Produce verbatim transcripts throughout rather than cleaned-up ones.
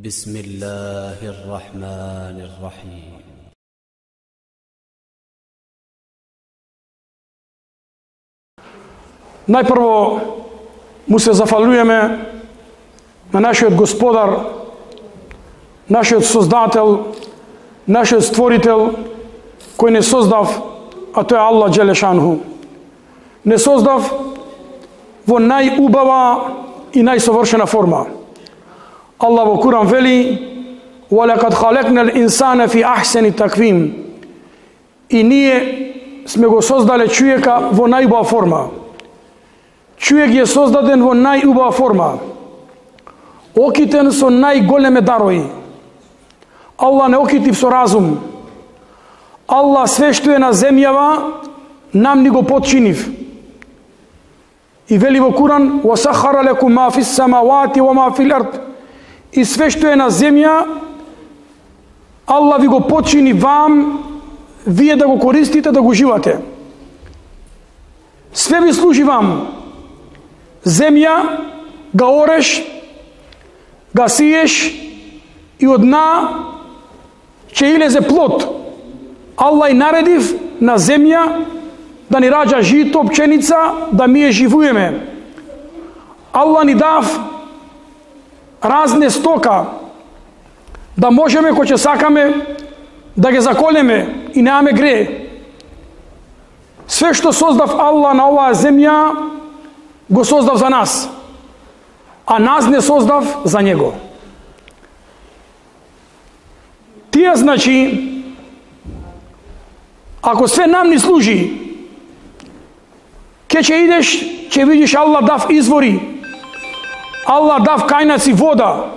بسم الله الرحمن الرحيم. Најпрво му се зафалуеме на нашиот Господар, нашиот Создател, нашиот Створител, кој не создав, а тој е Аллах Джелешанху. Не создав во најубава и најсовршена форма. Аллах во Куран вели: وَلَقَدْ خَلَقْنَا الْإِنسَانَ فِي أَحْسَنِ تَقْوِيمٍ. И ние сме го создале човека во најубава форма. Човек е создаден во најубава форма, окитен со најголеме дарои. Аллах не окитив со разум. Аллах све што е на земјава нам ни го подчинив. И вели во Куран: وَسَخَّرَ لَكُم مَا فِي السَّمَاوَاتِ وَمَا فِي الْأَرْضِ. И све што е на земја, Аллах ви го подчини вам, вие да го користите, да го живате. Све ви служи вам. Земја га ореш, га сиеш и од дна ќе илезе плод. Аллах и наредив на земја да ни раѓа жито, пченица, да ми ја живуеме. Аллах ни дав разне стока, да можеме кој ќе сакаме да ги заколеме и немаме грее. Све што создав Аллах на оваа земја го создав за нас, а нас не создав за него. Тие значи, ако све нам ни служи, ке ќе идеш, ќе видиш Аллах дав извори, Аллах дав кајнаци вода,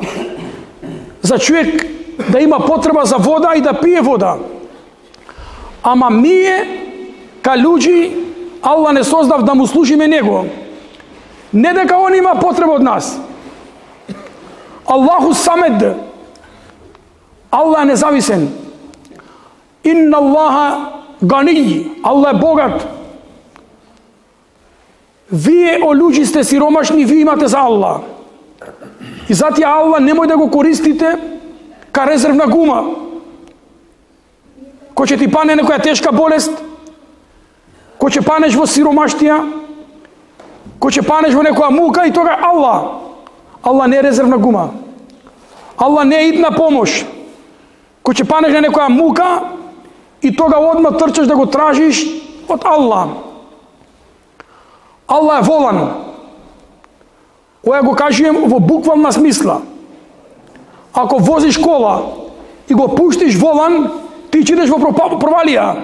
за човек да има потреба за вода и да пие вода. Ама ние, ка луѓи, Аллах не создав да му служиме него. Не дека он има потреба од нас. Аллаху самед. Аллах е независен. Инна Аллаха гании. Аллах е богат. Вие, о луѓи, сте сиромашни, вие имате за Аллах. И затоа Аллах немој да го користите ка резервна гума. Кој ќе ти пане некоја тешка болест, кој ќе панеш во сиромаштија, кој ќе панеш во некоја мука, и тога Аллах. Аллах не е резервна гума. Аллах не е идна помош. Кој ќе панеш на некоја мука, и тога одма трчаш да го тражиш од Аллах. Аллах е волан. Ова го кажувам во буквална смисла. Ако возиш кола и го пуштиш волан, ти ќе идеш во провалија.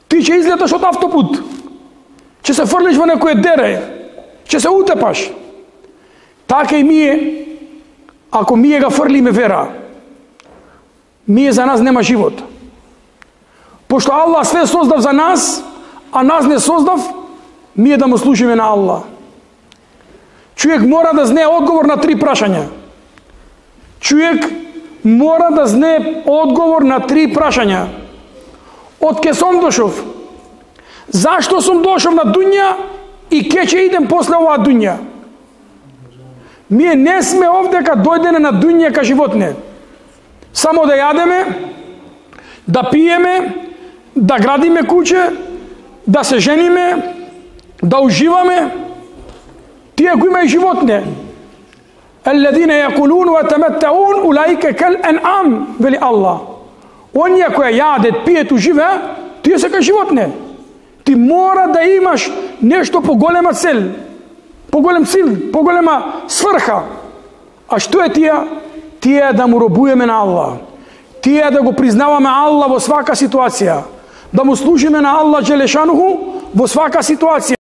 Ти ќе излеташ од автопут. Ќе се фрлиш во некој дере. Ќе се утепаш. Така и ние, ако ние га фрлиме вера, ние за нас нема живот. Пошто Аллах све создав за нас, а нас не создав, ние да му служиме на Аллах. Човек мора да знае одговор на три прашања. Човек мора да знае одговор на три прашања. Од ке сум дошов? Зашто сум дошов на дуња и ке ќе идем после оваа дуња? Ние не сме овде ка дојдене на дуња ка животне. Само да јадеме, да пиеме, да градиме куќе, да се жениме, да уживаме. Тие кои има и животне. Алладина јакулун ва таматтаун улаика кал ан'ам, вели Аллах. Оние кои јадат, пијат, уживеа, тие се кај животне. Ти мора да имаш нешто поголема цел, поголем цел, поголема сврха. А што е тие? Тие да му робуеме на Аллах. Тие да го признаваме Аллах во свака ситуација. Да му служиме на Аллах Джелешанху во свака ситуација.